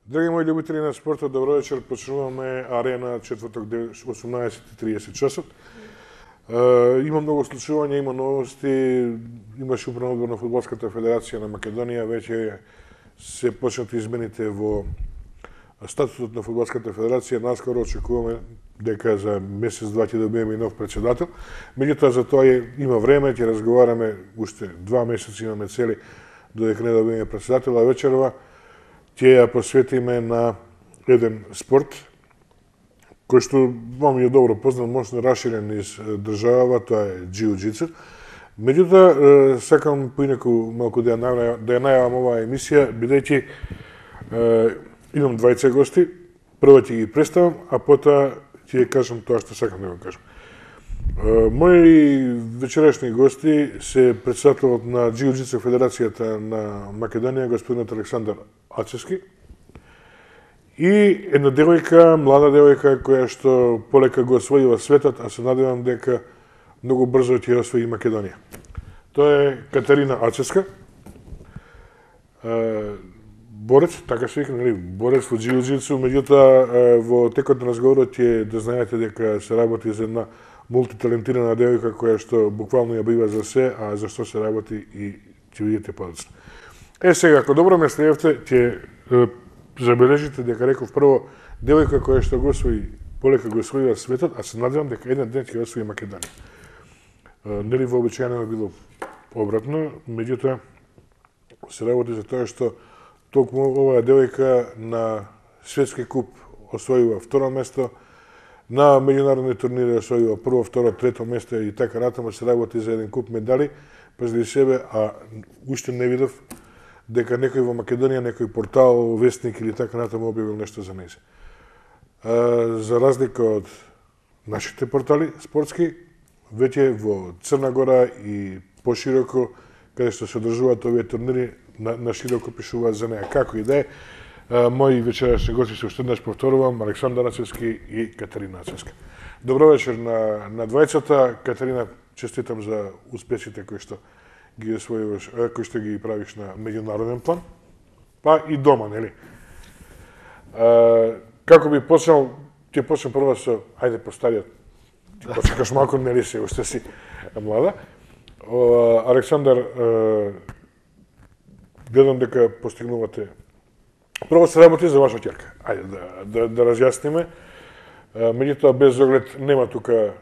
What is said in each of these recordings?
Драги мои љубители на спортот, добро вечер. Почнуваме Арена четврток 18:30 часот. Има многу случувања, има новости, имаше управен одбор на Фудбалската федерација на Македонија, веќе се почнати измените во статутот на Фудбалската федерација. Наскоро очекуваме дека за месец-два ќе добиеме и нов председател. Меѓутоа за тоа има време, ќе разговараме уште 2 месеци имаме цели додека не добиеме председател, а вечерва ќе ја посветиме на еден спорт кој што вам е добро познат, можно расширен из државава, тоа е џиу-џитсу. Меѓутоа, сакам поинаку малку да ја најавам оваа емисија, бидејќи имам двајца гости, прво ќе ги представам, а потоа ќе ја кажам тоа што сакам да го кажам. Мои вечерашни гости се председателот на џиу-џитсу федерацијата на Македонија, господинот Александар Ацевски, и една девојка, млада девојка, која што полека го освојува светот, а се надевам дека многу брзо ќе освои Македонија. Тоа е Катерина Ацевска, борец, така се вика, нели, борец во џиу-џитсу, меѓутоа во текот на разговорот ќе да знаете дека се работи за една мултиталентирана девојка која што буквално ја бива за се, а за што се работи и ќе видите подоцна. Сега, ако добро ме следевте, ќе забележите дека реков прво девојка која што го освои, полека го освојува светот, а се надевам дека еден ден ќе освои Македонија. Нели вообичаено е било обратно, меѓутоа се работи за тоа што токму оваа девојка на светски куп освојува второ место, на меѓународни турнири освојува прво, второ, трето место и така натаму се работи за еден куп медали, пазди себе, а уште не видов дека некој во Македонија, некој портал, вестник или така натаму објавил нешто за нејзе. За разлика од нашите портали спортски, веќе во Црна Гора и пошироко, каде што се одржуваат овие турнири, на широко пишуваат за неја. Како и да е, мои вечерашни гости се уште еднаш повторувам, Александар Ацевски и Катерина Ацевска. Добро вечер на двајцата. Катерина, честитам за успесите кои што ги освојуваш, кои што ги правиш на меѓународен план, па и дома, нели? Како би почнал, ќе почнем прво со, ајде по стариот, ти почекаш малку, нели се, уште си млада. Александар, гледам дека постигнувате. Прво се работи за ваша ќерка. Ајде да разјасниме. Меѓутоа без оглед нема тука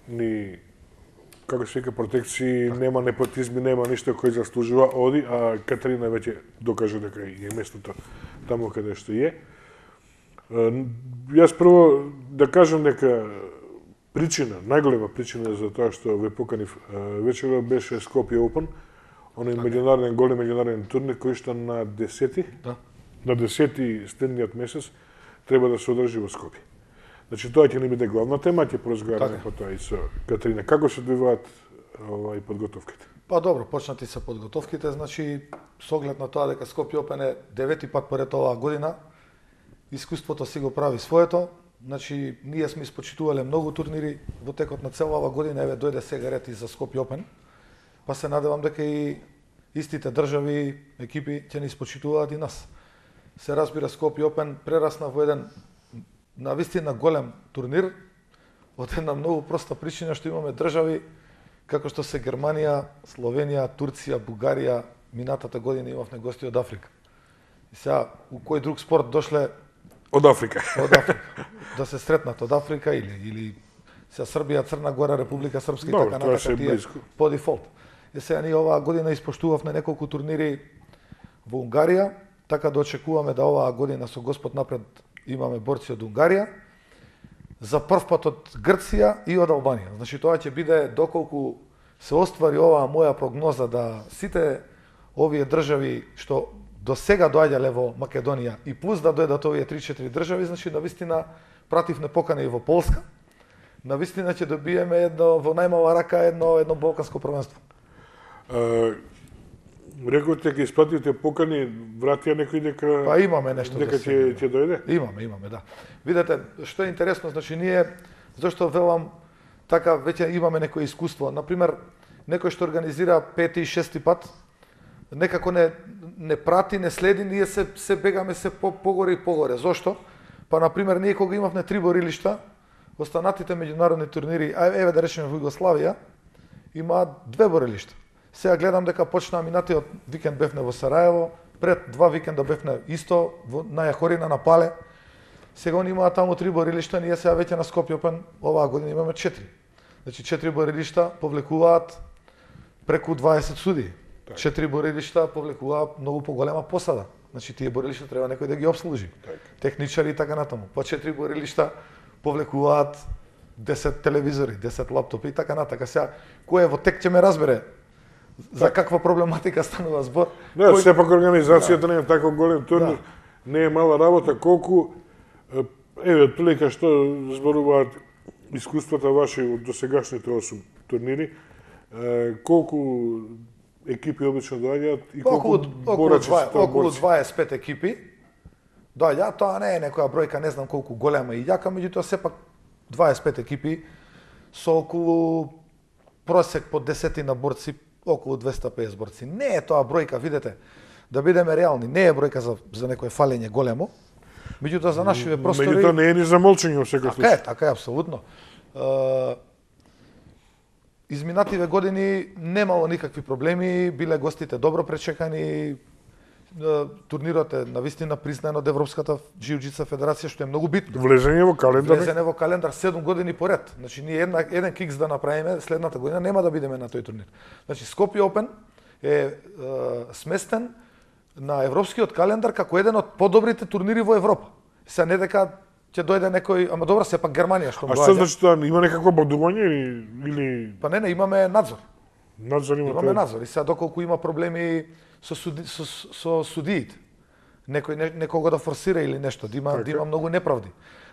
ни како се вика протекции, нема непотизми, нема ништо кој заслужува оди, а Катерина веќе докажа дека е местото таму каде што е. Јас прво да кажам дека причина, најголема причина за тоа што ве поканив вечерва беше Skopje Open, оној меѓународен голем меѓународен турнир кој што на 10-ти, на 10-ти следниот месец треба да се одржи во Скопје. Значи тоа ќе не биде главна тема, ќе поразговараме потоа и со Катерина. Како се одвиваат подготовките? Па добро, почнати се подготовките, значи со оглед на тоа дека Skopje Open е 9-ти пат поред оваа година, искуството си го прави своето. Значи ние сме испочитувале многу турнири во текот на цела оваа година, еве дојде сега ред и за Skopje Open. Па се надевам дека и истите држави, екипи ќе ни испочитуваат и нас. Се разбира, Skopje Open прерасна во еден навистина голем турнир, од една многу проста причина што имаме држави како што се Германија, Словенија, Турција, Бугарија, минатата година имавме гости од Африка. И сега, у кој друг спорт дошле од Африка? Од Африка. Да се сретнат од Африка или сега Србија, Црна Гора, Република Српска и така натака тие по дефолт. И сега ние оваа година испоштувавме неколку турнири во Унгарија, така да очекуваме да оваа година со Господ напред имаме борци од Унгарија, за прв пат од Грција и од Албанија. Значи тоа ќе биде доколку се оствари оваа моја прогноза да сите овие држави што до сега доаѓале во Македонија и плюс да дојдат овие 3-4 држави, значи навистина пративме покана и во Полска. Навистина ќе добиеме едно во најмала рака едно балканско првенство. Рековте ќе испратите покани, вратија некој дека па имаме нешто дека ќе дојде? Имаме, да. Видете, што е интересно, значи ние зашто велам така веќе имаме некое искуство. На пример, некој што организира 5-ти и 6-ти пат, некако не прати, не следи, ние се бегаме се погоре и погоре. Зошто? Па, например, ние кога имавме 3 борилишта, останатите меѓународни турнири, еве да речеме во Југославија, има 2 борилишта. Сега гледам дека почнаа минатиот викенд бевне во Сараево, пред 2 викенда бевне исто на Јахорина, на Пале. Сега они имаат таму 3 борилишта, ние сега веќе на Скопје Опен оваа година имаме 4. Значи 4 борилишта повлекуваат преку 20 судии. 4 борилишта повлекуваат многу поголема посада. Значи тие борилишта треба некој да ги обслужи. Техничари и така натаму. По 4 борилишта повлекуваат 10 телевизори, 10 лаптопи и така натака. Сега кој е во тек ќе ме разбере за каква проблематика станува збор. Да, сепак организацијата не е тако голем турнир, не е мала работа, колку еве отприлика што зборуваат искуствата ваши од досегашните 8 турнири, колку екипи обично доаѓаат и колку борачи се тоа околу 25 екипи доаѓаат, тоа не е некоја бројка, не знам колку голема и јака, меѓутоа сепак 25 екипи со околу просек по 10 на борци, околу 250 борци. Не е тоа бројка, видете, да бидеме реални, не е бројка за некое фалење големо, меѓутоа за нашиве простори... Меѓутоа не е ни за молчење во секој случај. Така е, апсолутно. Изминативе години немало никакви проблеми, биле гостите добро пречекани, турнирот е навистина признан од Европската џиу-џица федерација, што е многу битно. Влезење во календар. Влезење во календар 7 години поред. Значи ние еден кикс да направиме, следната година нема да бидеме на тој турнир. Значи Скопје Опен е сместен на европскиот календар како еден од подобрите турнири во Европа. Се не дека ќе дојде некој, ама добро, сепак Германија што доаѓа. А што значи тоа, има некакво бодување или Па не, имаме надзор. Имаме надзор. И сега доколку има проблеми со судиите, некого да форсира или нешто, да има многу неправди.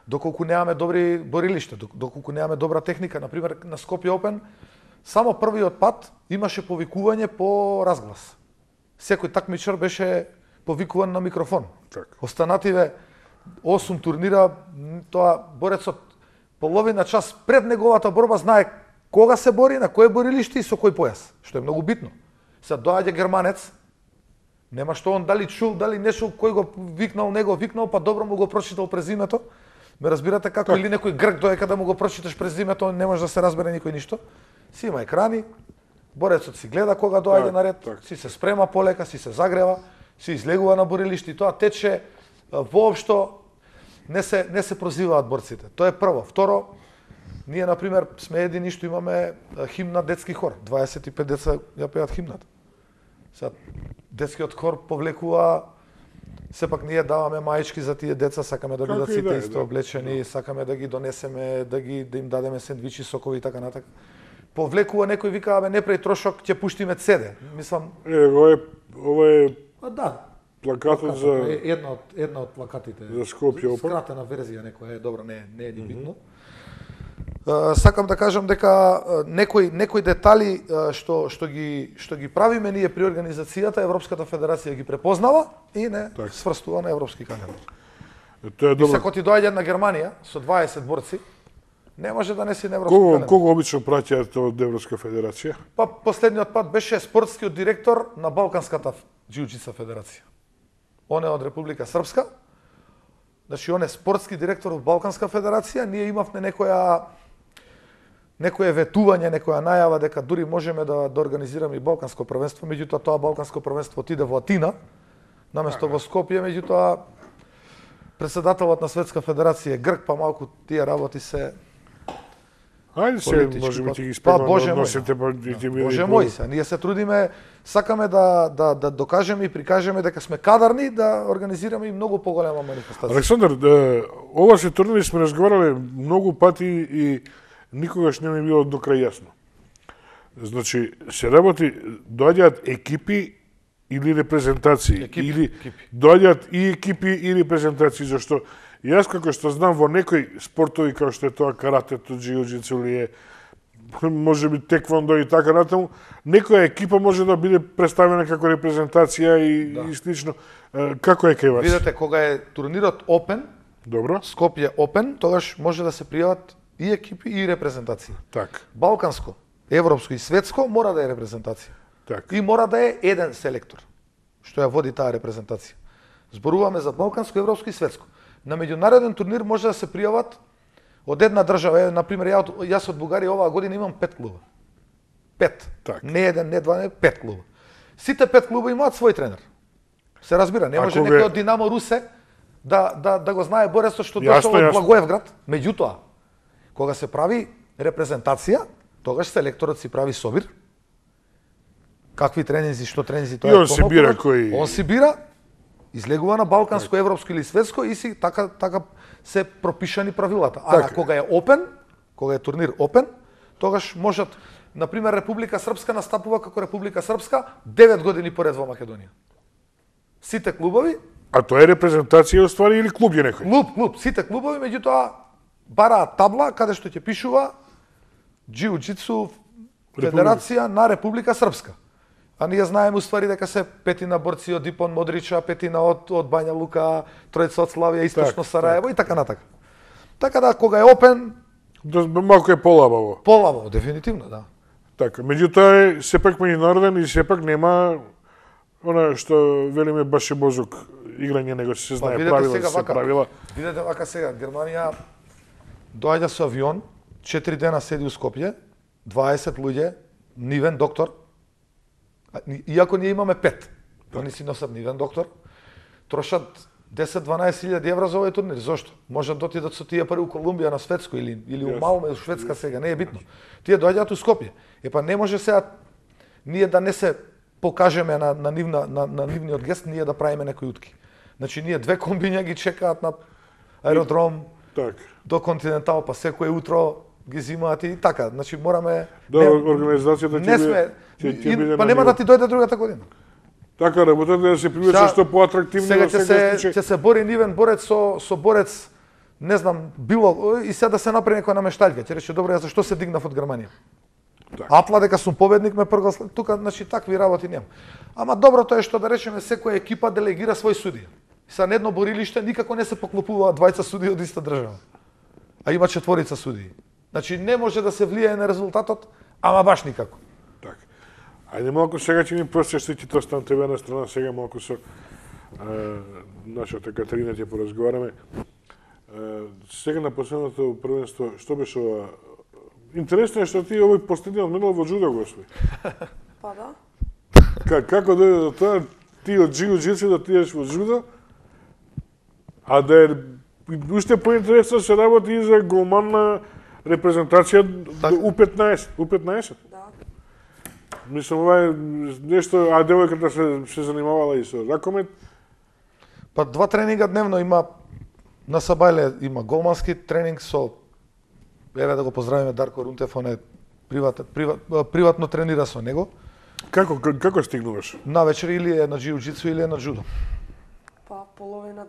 Доколку немаме добри борилишта, доколку немаме добра техника, например на Скопје Опен, само првиот пат имаше повикување по разглас. Секој такмичар беше повикуван на микрофон. Останативе 8 турнира, тоа борецот половина час пред неговата борба знае кога се бори, на кое борилиште и со кој појас, што е многу битно. Сега доаѓа германец, нема што он дали чул, дали не чул, кој го викнал, не го викнал, па добро му го прочитал презимето. Ме разбирате како, или некој грк доека да му го прочиташ презимето, не може да се разбере никој ништо. Си има екрани, борецот си гледа кога доаѓа на ред, си се спрема полека, си се загрева, си излегува на борилиште и тоа тече воопшто не се прозиваат борците. Тоа е прво. Второ, ние например сме едини што имаме химна детски хор. 25 деца ја пеат химната. Сега детскиот хор повлекува, сепак ние даваме маички за тие деца, сакаме да бидат сите исто облечени, сакаме да ги донесеме, да им дадеме сендвичи, сокови и така натака. Повлекува некој вика, абе не прај трошок, ќе пуштиме CD. Мислам, ова е да. Плакатот за една од плакатите. За Скопје Опен. Скратена верзија некоја е, добро, не е ни битно. Сакам да кажам дека некои детали што ги правиме ние при организацијата, Европската федерација ги препознава и не сврстува на европски календар. Тоа е добро. И се коти доаѓа на Германија со 20 борци, не може да не си на европски календар. Кого обично праќаат од Европска федерација? Па последниот пат беше спортскиот директор на Балканската џиу-џица федерација. Он е од Република Српска. Значи он е спортски директор од Балканска федерација, ние имавме некое ветување, некоја најава дека дури можеме да организираме и Балканско првенство, меѓутоа тоа Балканско првенство отиде во Атина, наместо во Скопје, меѓутоа председателот на Светска федерација е грк, па малку тие работи се Ајде се, можеме ќе ги спремаме односите, па и ќе биде. Боже мој, ние се трудиме, сакаме да докажеме и прикажеме дека сме кадарни да организираме и многу поголема манифестација. Александар, ова се турнири сме разговарале многу пати и никогаш не ми било до крај јасно. Значи, се работи, доаѓаат екипи или репрезентации, или доаѓаат и екипи и репрезентации, зашто јас како што знам во некои спортови како што е тоа каратето, џиу-џицу или е може би теквондо и така натаму, некоја екипа може да биде представена како репрезентација и слично. Како е кај вас? Видете, кога е турнирот Опен, добро, Скопје Опен, тогаш може да се пријават и екипи и репрезентации. Так. Балканско, европско и светско мора да е репрезентација. И мора да е еден селектор, што ја води таа репрезентација. Зборуваме за балканско, европско и светско. На меѓународен турнир може да се пријават од една држава, например, јас од Бугарија оваа година имам 5 клуба. 5. Не еден, не два, не 5 клуба. Сите 5 клуба имаат свој тренер. Се разбира, не може некој од Динамо Русе да го знае Борецот што дошол од Благоевград. Меѓутоа, кога се прави репрезентација, тогаш селекторот си прави собир. Какви тренинзи, што тренинзи тоа е. И он си бира кој. Он си бира, излегува на балканско, европско или светско и си така се пропишани правилата. А кога е опен, кога е турнир опен, тогаш можат, например, Република Српска настапува како Република Српска 9 години поред во Македонија. Сите клубови. А тоа е репрезентација оствари или клуб е некој? Клуб. Сите клубови, меѓутоа бараат табла каде што ќе пишува Џиу-џитсу Федерација на Република Српска. А ние знаеме уствари дека се петина борци од Ипон Модрича, петина од Бања Лука, тројца од Славија, Источно Сараево и така натака. Така да кога е опен, малку е полабаво. Полабаво, дефинитивно, да. Така, меѓутоа е сепак меѓународен и сепак нема она што велиме баше бозук играње, него се знае правила, Видете вака сега, Германија доаѓа со авион, 4 дена седи у Скопје, 20 луѓе, нивен доктор, иако ние имаме 5, они си носат нивен доктор, трошат 10-12.000 евра за овој турнир. Зошто? Можат да отидат со тие пари у Колумбија на светско или у Малме, у Шведска сега, не е битно. Тие доаѓаат у Скопје. Епа не може сега ние да не се покажеме на нивниот гест, ние да правиме некои утки. Значи ние 2 комбиња ги чекаат на аеродром до Континентал, па секое утро ги зимаат и така. Значи мораме организацијата ќе биде па нема да ти дојде другата година. Така работата да се привлече што поатрактивно. Сега ќе се бори нивен борец со борец, не знам, било и сега да се направи некоја намештаljка. Ќе рече добро, јас зашто се дигнав од Германија? Атла дека сум победник ме прогласи. Тука значи такви работи нема. Ама доброто е што да речеме секоја екипа делегира свој судија. Са на едно борилиште никако не се поклопуваат 2 судии од иста држава. А има 4 судии. Значи не може да се влијае на резултатот, ама баш никако. Така. Ајде малку сега ќе ни простиш ти тоа стан тебе на страна, сега малку со нашата Катерина ќе поразговараме. Сега на последното првенство, што беше ова? Интересно е што ти овој последниот медал во џудо го освои. Па да. Како дојде до тоа, ти од џиу-џитсу да отидеш во џудо, а да е уште поинтересно се работи и за голман на репрезентација У15. Да. Мислам, ова е нешто, а девојката се занимавала и со ракомет? Па 2 тренинга дневно има, на Сабајле има голмански тренинг со, еве да го поздравиме Дарко Рунтев, он е приватно тренира со него. Како стигнуваш? Навечер или е на џиу-џитсу или е на џудо. Па половина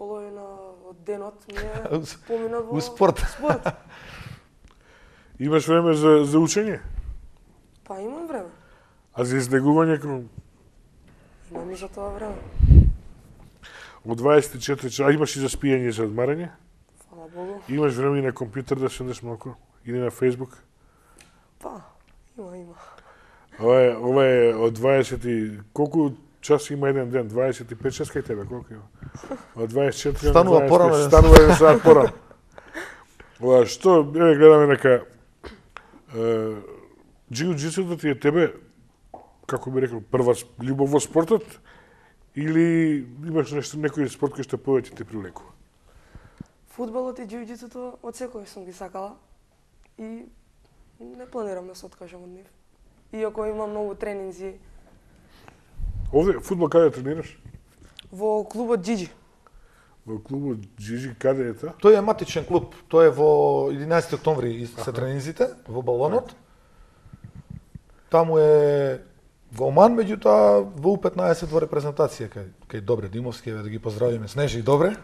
од денот ми е поминат во спорт. Имаш време за учење? Па имам време. А за излегување Имам и за тоа време. Од 24 часа имаш и за спиење и за одмарање? Фала Богу. Имаш време и на компјутер да седнеш малку? Или на Facebook? Па, има. Ова е од 20 и колку часи има еден ден? 25 часа кај тебе, колку има? Од 24 станува порано. Станува еден сат порано. Ова што, еве гледаме нека џиу-џитсуто ти е тебе, како би рекол, прва љубов во спортот или имаш некој спорт кој што повеќе те привлекува? Фудбалот и џиу-џитсуто од секој сум ги сакала и не планирам да се откажам од нив. Иако имам многу тренинзи. Овде фудбал каде тренираш? Во клубот Џиџи. Во клубот Џиџи каде е тоа? Тој е матичен клуб. Тој е во 11 октомври се тренинзите во балонот. Таму е голман, меѓутоа во У15 во репрезентација кај Добре Димовски, еве да ги поздравиме Снежи и Добре.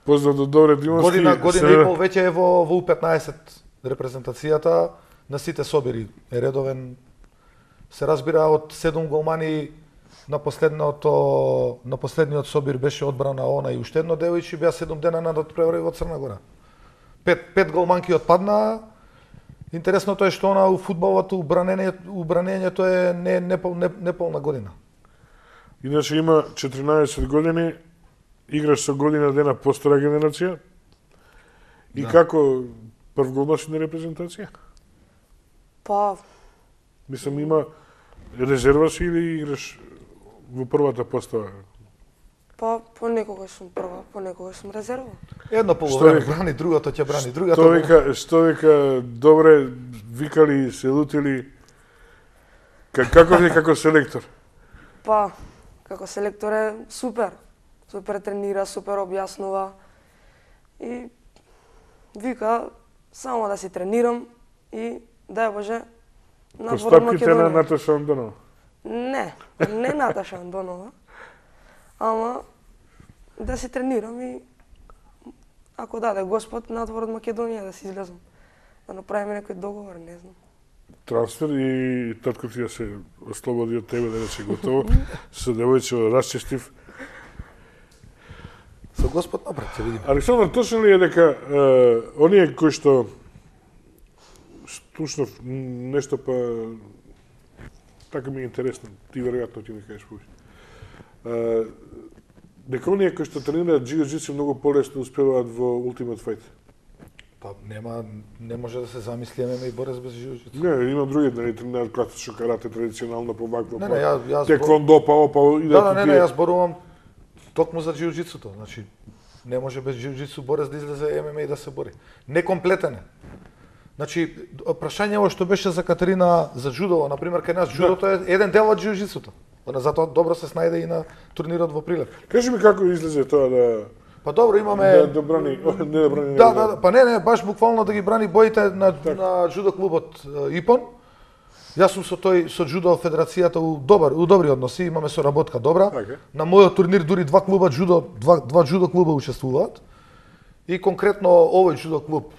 Поздрав до Добре Димовски. Година и пол веќе е во У15 репрезентацијата, на сите собири е редовен. Се разбира од 7 голмани на последниот собир беше одбрана она и уште едно девојче, беа 7 дена на преврај во Црна Гора. 5 голманки отпадна Интересното е што она у фудбалот убранењето е неполна година. Иначе има 14 години, играш со година дена постара генерација. И како прв гол носи на репрезентација? Па... Мислам, има резерва си или играш во првата постава? Па, понекогаш сум прва, понекогаш сум резерва. Едно полувреме брани, другото ќе брани, другото... Што вика, добре, викали, се лутили, како ви како селектор? Па, како селектор е супер. Супер тренира, супер објаснува. И вика, само да си тренирам и, дај Боже, надвор од Македонија. Постапките на Наташа Андонова? Не Наташа Андонова. Ама да се тренирам и ако даде Господ надвор од Македонија да се излезам. Да направиме некој договор, не знам. Трансфер и татко ти да се ослободи од тебе да рече готово. Со девојче расчестив. Со Господ напред, ќе видиме. Александар, точно ли е дека оние кои што Стушнов нешто па така ми е интересно, ти веројатно ќе ми кажеш повеќе. Дека оние кои што тренираат джиу-джитсу многу полесно успеваат во Ultimate Fight. Па не може да се замисли ММА и борец без джиу-джитсу. Не, има други да тренираат класично карате традиционално по вакво. Не, јас теквондо па и да. Не, јас зборувам токму за джиу-джитсуто. Значи не може без джиу-джитсу борец да излезе ММА и да се бори. Некомплетен е. Значи, прашањето што беше за Катерина за джудо, например, кај нас джудото е еден дел од джиу-джитсуто. Затоа добро се снајде и на турнирот во Прилеп. Кажи ми како излезе тоа да... Па добро, имаме... Да брани, не да брани... Да, па не, баш буквално да ги брани боите на джудо клубот ИПОН. Јас сум со джудо федерацијата у добри односи, имаме соработка добра. На мојот турнир дури два джудо клуба учествуваат. И конкретно овој джудо клуб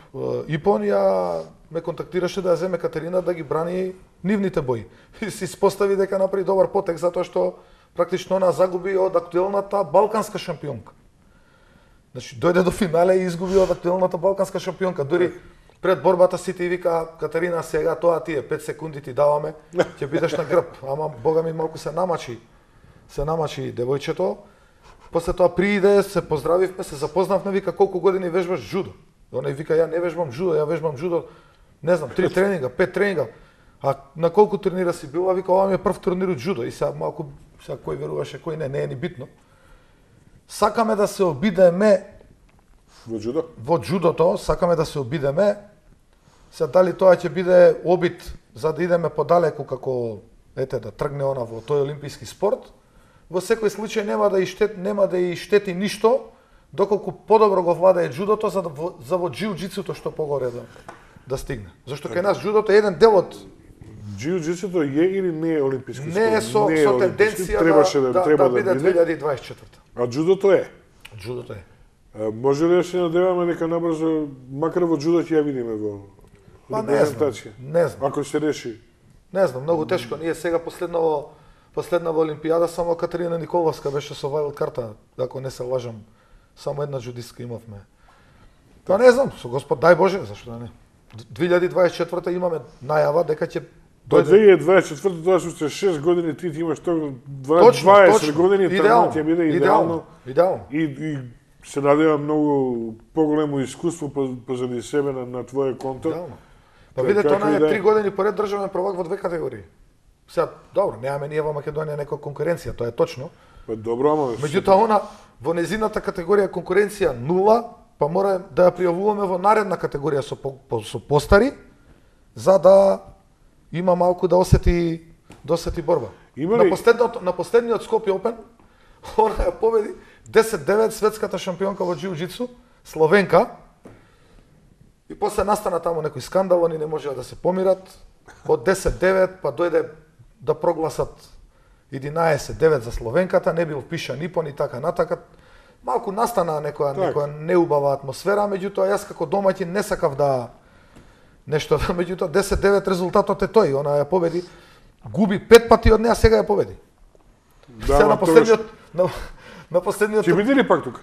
ИПОН ја ме контактираше да ја земе Катерина да ги брани нивните бои. И се испостави дека направи добар потек затоа што практично она загуби од актуелната балканска шампионка. Значи дојде до финале и изгуби од актуелната балканска шампионка. Дури пред борбата сите и вика Катерина сега тоа тие 5 секунди ти даваме, ќе бидеш на грб. Ама бога ми малку се намачи девојчето. После тоа прииде, се поздравивме, се запознавме, вика колку години вежбаш джудо. Оној вика ја не вежбам джудо, ја вежбам джудо, не знам, 3 тренинга, 5 тренинга. А на колку турнира си била, вика ова ми е прв турнир од джудо и сега малку кој веруваше, кој не е ни битно. Сакаме да се обидеме во джудо. Во джудото сакаме да се обидеме. Се дали тоа ќе биде обид за да идеме подалеку како да тргне она во тој олимписки спорт. Во секој случај нема да и штети ништо доколку подобро го владее джудото за во джиу-джитсуто што погоре да стигне. Зашто кај нас джудото е еден дел од джиу-джитсуто е или не е олимписки спорт? Не е со тенденција да биде 2024. А джудото е? Джудото е. Може ли да се надеваме дека набрзо, макар во джудо ќе ја видиме во репрезентација? Не знам. Ако се реши? Не знам, многу тешко. Ние сега последна во Олимпијада само Катерина Николовска беше со вајлд карта, ако не се лажам. Само една джудистка имавме. Па не знам, со Господ дај Боже, зашто да не. 2024 имаме најава дека ќе До 2024 тоа се 6 години, ти имаш тоа 20 години, тоа ќе биде идеално. И се надевам многу поголемо искуство позади себе на твоје конто. Па видете, она е 3 години поред државен prvак во 2 категории. Сега, добро, немаме ние во Македонија некоја конкуренција, тоа е точно. Па добро, ама... Меѓутоа, она во незината категорија конкуренција 0, па мора да ја пријавуваме во наредна категорија со постари, за да има малку да осети борба. На последниот Скопје Опен, она ја победи 10-9 светската шампионка во джиу-джитсу, Словенка. И после настана таму некој скандал, они не можеа да се помират. Од 10-9 па дојде да прогласат 11-9 за Словенката, не бил впишан ИПОН и така натака. Малку настана некоја неубава атмосфера, меѓутоа јас како домаќин не сакав да нешто, меѓутоа 10-9 резултатот е тој, она ја победи, губи 5 пати од неа, сега ја победи. Сега на последниот Ќе биде ли пак тука?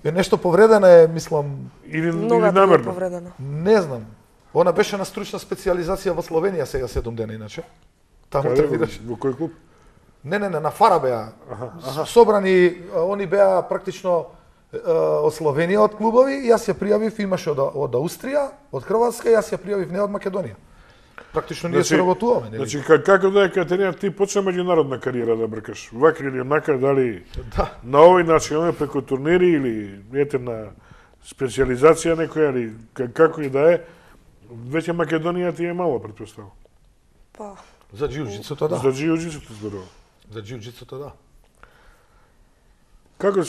Е нешто повредена е, мислам, или намерно? Повредена. Не знам. Она беше на стручна специализација во Словенија сега 7 дена иначе. Таму тренираше. Во кој клуб? Не, на Фара беа. Собрани, они беа практично од Словенија од клубови, јас ја пријавив, имаше од Аустрија, од Хрватска, јас ја пријавив не од Македонија. Практично ние се работуваме, нели? Значи како да е Катерина, ти почна меѓународна кариера да бркаш. Вака или онака, дали на овој начин, преку турнири или ете на специализација некоја или како и да е, веќе Македонија ти е мало, претпоставам. Па. За џиу-џицуто, да. За џиу-џицуто зборувам. За џиу-џицуто, да. Како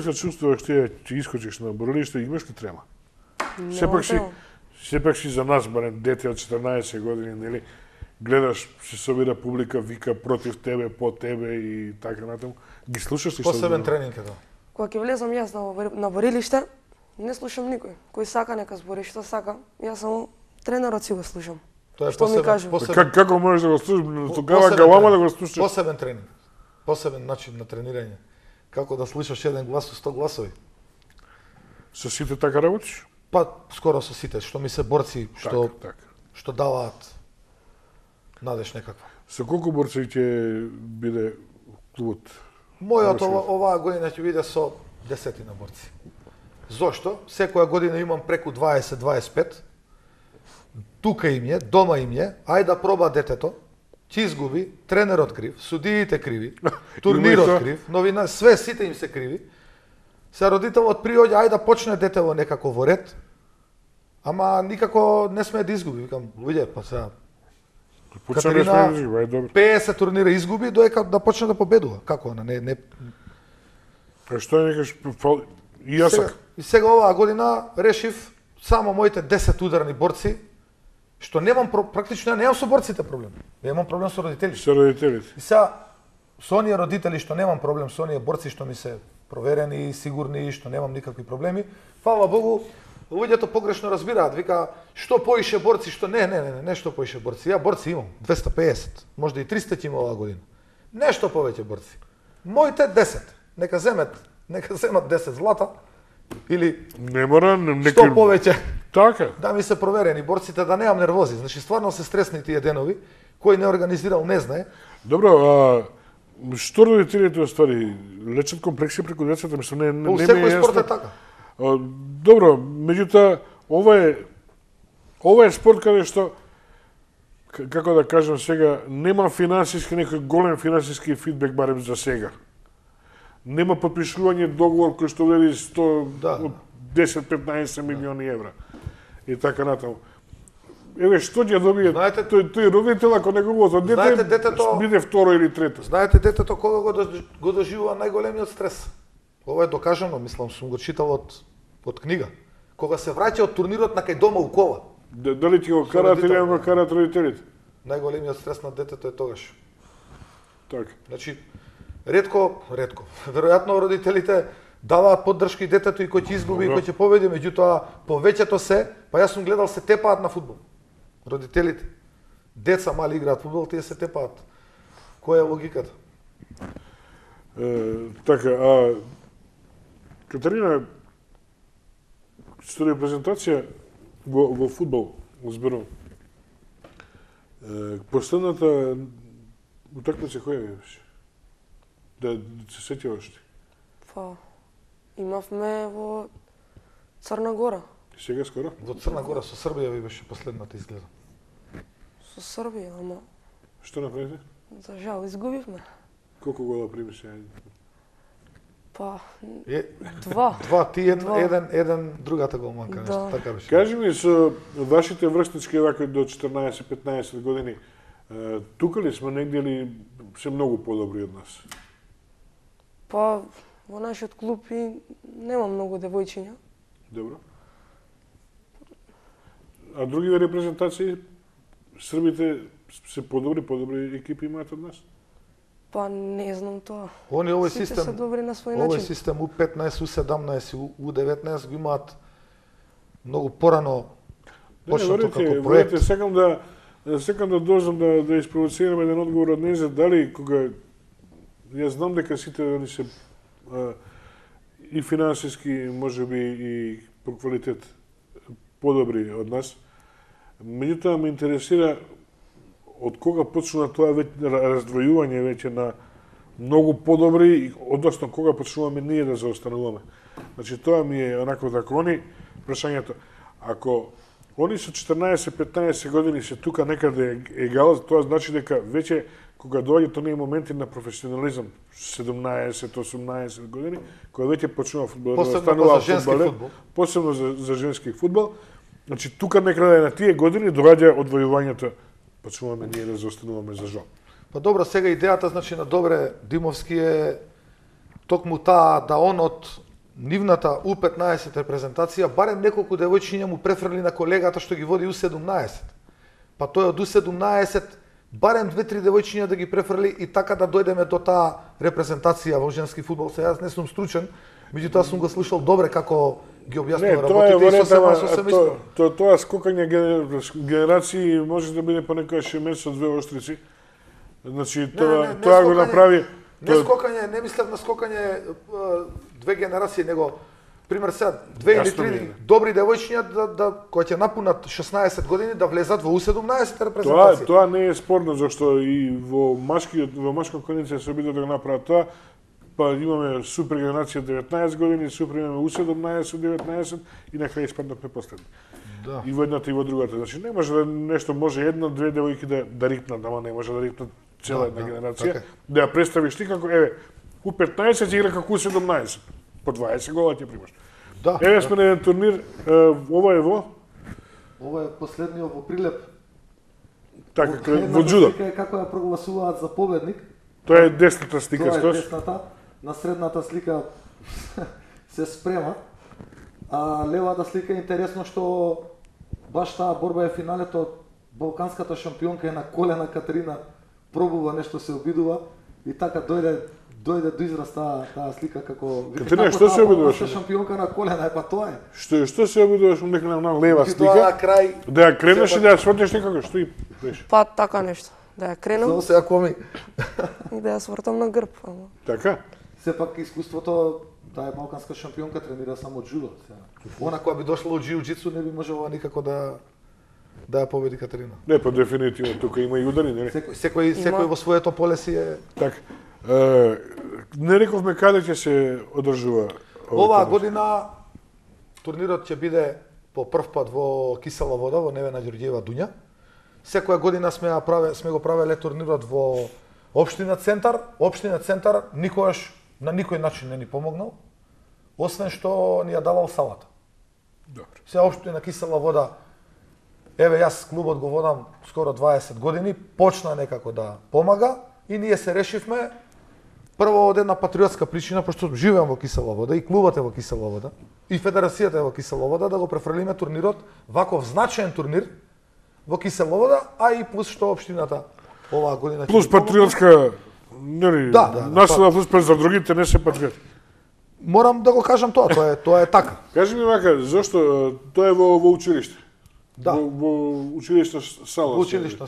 се чувствуваш ти че искочиш на борилиште, имаш ли трема? Сепак си за нас, барем дете од 14 години, нели, гледаш, се собира публика, вика против тебе, по тебе и така натаму. Ги слушаш ли што? Посебен тренинг е тоа. Кога ќе влезам јас на борилиште, не слушам никој. Кој сака нека збори што сака, јас само тренерот си го слушам. Тоа е што ми кажува. Како можеш да го слушаш? Тогава галама да го слушаш. Посебен тренинг. Посебен начин на тренирање. Како да слушаш еден глас со 100 гласови. Со сите така работиш? Па скоро со сите, што ми се борци, што даваат надеж некаква. Со колку борци ќе биде клубот? Мојот оваа година ќе биде со 10 борци. Зошто? Секоја година имам преку 20-25. Тука им е, дома им е, ајде да проба детето, ќе изгуби, тренерот крив, судиите криви, турнирот крив, новина, сите им се криви. Се родителот приоѓа, ајде да почне детево некако во ред, ама никако не сме да изгуби. Викам, луѓе, па сега Катерина 50 турнира изгуби, доека да почне да победува. Како она? Не. А што е некаш и јас сега оваа година решив само моите 10 ударни борци, што немам практично немам со борците проблем. Немам проблем со родителите. Со родителите. И сега со оние родители што немам проблем, со оние борци што ми се проверени, сигурни, што немам никакви проблеми. Фала Богу, луѓето погрешно разбираат, вика што поише борци, што не што поише борци. Ја борци имам 250, можда и 300 ќе има оваа година. Нешто повеќе борци. Моите 10, нека земат 10 злата или не мора што повеќе. Така. Да ми се проверени борците, да немам нервози. Значи стварно се стресни тие денови, кој не организирал не знае. Добро, што родителите оствари лечат комплекси преку децата, мислам не ми е секој спорт е така. Добро, меѓутоа ова е спорт каде што како да кажам сега, нема финансиски некој голем финансиски фидбек барем за сега. Нема подпишување договор кој што вели 10-15 милиони евра. И така натаму. Еве што ќе добие тој родител ако неговото дете биде второ или трето. Знаете детето кога го доживува најголемиот стрес. Ова е докажано, мислам, сум го читал од книга. Кога се враќа од турнирот на кај дома у кола. Дали ќе го карат или го карат родителите? Најголемиот стрес на детето е тогаш. Така. Значи, ретко, веројатно родителите даваат поддршка и детето и кој ќе изгуби и кој ќе победи, меѓутоа повеќето се, па јас сум гледал се тепаат на фудбал. Родителите. Деца мали играат фудбал, тие се тепаат. Која е логиката? Така, Катерина, што репрезентација во фудбал, зборувам. Последната утакмица која беше? Да се сетиваш ти? Па, имавме во Црна Гора. И сега скоро? Во Црна Гора со Србија ви беше последната изгледа. Со Србија, ама... Што направите? За жал, изгубивме. Колку гола прими се? Па, 2. Ти еден другата голманка, нешто така беше. Кажи ми, со вашите врснички вака до 14-15 години, тука ли сме негде или се многу подобри од нас? Па, во нашиот клуб и нема многу девојчиња. Добро. А другите репрезентации, србите се подобри екипи имаат од нас? Па не знам тоа. Овој систем се добри на свој начин. Овој систем U15, U17, U19 го имаат многу порано почнато како проект. Секам да дожам да испровоцирам еден одговор од Незет, дали кога јас знам дека сите они се и финансиски, можеби и по квалитет подобри од нас, Меѓутоа ме интересира од кога почнува тоа раздвојување веќе на многу подобри, односно кога почнуваме ние да заостануваме. Значи тоа ми е онако така они прашањето. Ако они со 14-15 години се тука некаде егал, тоа значи дека веќе кога доаѓаат оние моменти на професионализам, 17-18 години, кога веќе почнува фудбалот да станува фудбал, посебно за женски фудбал, значи тука некаде на тие години доаѓа одвојувањето, почнуваме ние да заостануваме за жал. Па добро, сега идејата значи на Добре Димовски е токму таа да он од нивната У15 репрезентација барем неколку девојчиња му префрли на колегата што ги води У17. Па тој од У17 барем 2-3 девојчиња да ги префрли и така да дојдеме до таа репрезентација во женски фудбал. Сега јас не сум стручен, меѓутоа сум го слушал добре како ги објаснува работите и сосема искрено. Тоа скокање генерации може да биде понекогаш и месец од две острици. Значи тоа го направи. Не скокање, не мислев на скокање две генерации, него пример сега 2 или 3 добри девојчиња кои ќе напунат 16 години да влезат во У17 репрезентација. Тоа не е спорно зашто и во машко кондиција се обидува да го направат тоа. Па имаме супер генерација 19 години, супер имаме У17 19 и на крај испаднавме последни. Да. И во едната и во другата. Значи не може да нешто може една-две девојки да рипнат, ама не може да рипнат цела една генерација, така. да ја представиш ти како еве У15 игра како У17. По 20 гола ќе примаш. Да. Еве сме на еден турнир, ова е во последниот во Прилеп. Така во џудо. Како ја прогласуваат за победник. Тоа е десната слика, Тоа е десната. На средната слика се спрема. А левата слика е интересно што баш таа борба е финалето, балканската шампионка е на колена, Катерина пробува нешто, се обидува и така дојде до израз таа слика како Катерина што се обидуваш? Шампионка на колена, па тоа е. Што се обидуваш нека на лева слика? Тоа на крај Да ја кренеш и да ја свртиш некако, што и беше? Па така нешто. Да ја кренам само сега коми. и да ја свртам на грб. Ама. Така? Сепак искуството, таа е балканска шампионка, тренира само џудо. Она која би дошла од џиу-џитсу не би можела никако да ја победи Катерина. Не, па дефинитивно, тука има и удари, нели? Секој во своето поле си е. Така. Не рековме каде ќе се одржува Оваа година турнирот ќе биде по прв пат во Кисела Вода, во Невена Ѓорѓиева Дуња. Секоја година сме го правеле турнирот во Општина Центар. Општина Центар никогаш на никој начин не ни помогнал, освен што ни ја давал салата. Добро. Се Општина Кисела Вода, еве јас клубот го водам скоро 20 години, почна некако да помага и ние се решивме прво од една патриотска причина, пошто живеам во Кисела Вода и клубот е во Кисела Вода и федерацијата е во Кисела Вода, да го префрлиме турнирот, ваков значаен турнир во Кисела Вода, а и плюс што општината оваа година плюс патриотска, нели, наслада плюс за другите не се патриоти. Морам да го кажам тоа е така. Кажи ми вака, зошто тоа е во училиште? Да. Во училишна сала. Во училишна.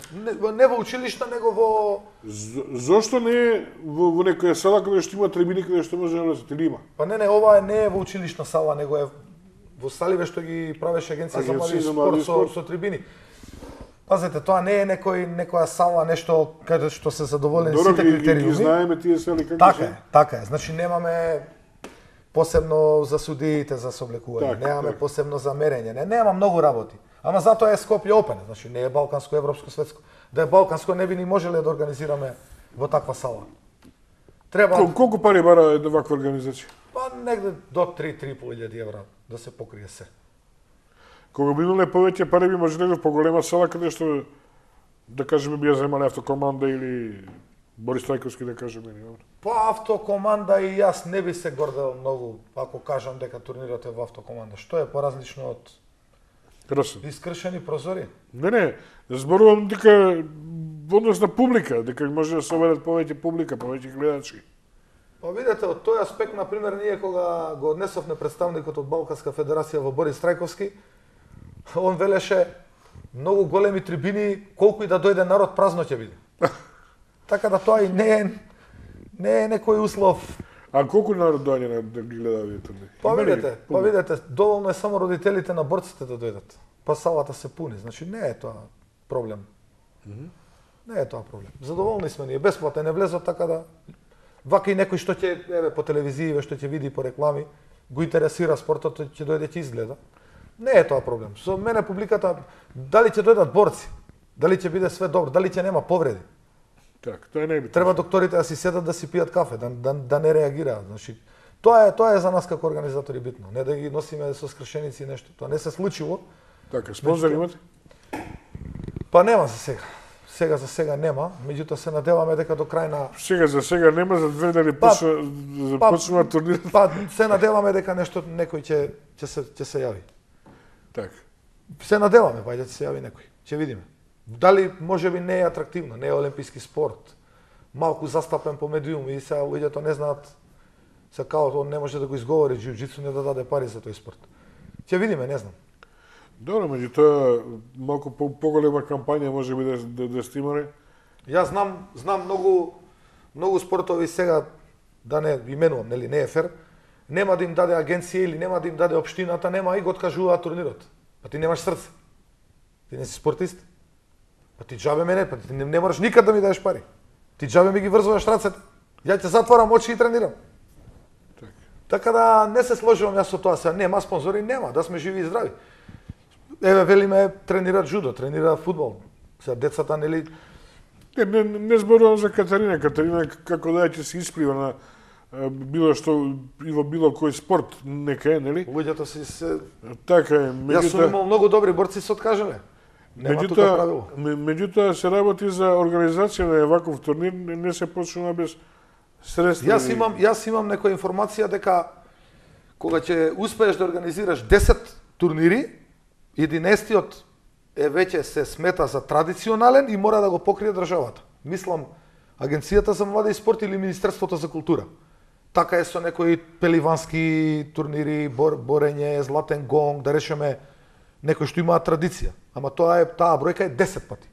Не во училишна, него во Зошто не е во некоја сала каде што има трибини каде што може да влезете или има? Па не, ова не е во училишна сала, него е во саливе што ги правеше агенција за млади спорт со трибини. Пазете, тоа не е некоја сала, нешто каде што се задоволени сите критериуми. Ги знаеме тие сали како така се. Така е. Значи немаме посебно за судиите за соблекување, немаме посебно за мерење, нема многу работи. Ама затоа е Скопје Опен, значи не е балканско, европско, светско. Да е балканско не би ни можеле да организираме во таква сала. Треба Колку пари бара една ваква организација? Па негде до 3-3.500 евра да се покрие се. Кога би имале повеќе пари, би можеле во поголема сала каде што, да кажеме, би ја земале автокоманда или Борис Трајковски, да кажеме. Па автокоманда и јас не би се гордел многу, ако кажам дека турнирот е во автокоманда. Што е поразлично од искршени прозори? Не, зборувам дека во однос на публика, дека може да се оведат повеќе публика, повеќе гледачи. Па видете, од тој аспект, например, ние кога го однесовме представникот од Балканска федерација во Борис Трајковски, он велеше многу големи трибини, колку и да дојде народ, празно ќе биде. Така да тоа и не е некој услов. А колку народ доаѓа да ги гледа овие турнири? Па видете, доволно е само родителите на борците да дојдат. па салата се пуни. Значи не е тоа проблем. Не е тоа проблем. Задоволни сме ние, бесплатно не влезот, така да вака и некој што ќе по телевизија, што ќе види по реклами, го интересира спортот, ќе дојде ќе изгледа. Не е тоа проблем. Со мене публиката, дали ќе дојдат борци, дали ќе биде све добро, дали ќе нема повреди. Так, тоа не е битно. Треба докторите да си седат да си пијат кафе, да не реагираат. Значи, тоа е за нас како организатори битно, не да ги носиме со скршеници и нешто. Тоа не се случило. Така, спонзор имате? Па нема за сега. За сега нема, меѓутоа се надеваме дека до крај на За сега нема, за 2 недели почнува турнирот. Па се надеваме дека некој ќе се јави. Така. Се надеваме, ќе се јави некој. Ќе видиме. Дали можеби не е атрактивно, не е олимписки спорт. Малку застапен по медиум и сега луѓето не знаат, се као он не може да го изговори, џиу-џитсу не да даде пари за тој спорт. Ќе видиме, не знам. Добро, меѓутоа малку поголема кампања можеби да стимале. Јас знам многу спортови сега, да не именувам, нели, не е фер, нема да им даде агенција или нема да им даде општината, нема и го откажуваат турнирот. Па ти немаш срце. Ти не си спортист. Па ти џабе мене, па ти не мораш никад да ми дадеш пари. Ти џабе ми ги врзуваш рацете. Ја ќе затварам очи и тренирам. Така да не се сложувам јас со тоа сега. Нема спонзори, нема, да сме живи и здрави. Еве велиме тренираат джудо, тренираат фудбал. Сега децата нели не зборувам за Катарина. Катарина како да ќе се исплива на било што и во било кој спорт нека е, нели? Луѓето се така е. Јас сум имал многу добри борци се откажале. Меѓутоа се работи за организација на ваков турнир, не се почнува без средства. Јас имам некоја информација дека кога ќе успееш да организираш 10 турнири, 11-тиот е веќе се смета за традиционален и мора да го покрие државата. Мислам, Агенцијата за млади и спорт или Министерството за култура. Така е со некои пеливански турнири, борење, златен гонг, да речеме некои што имаат традиција. Ама таа бројка е 10 пати.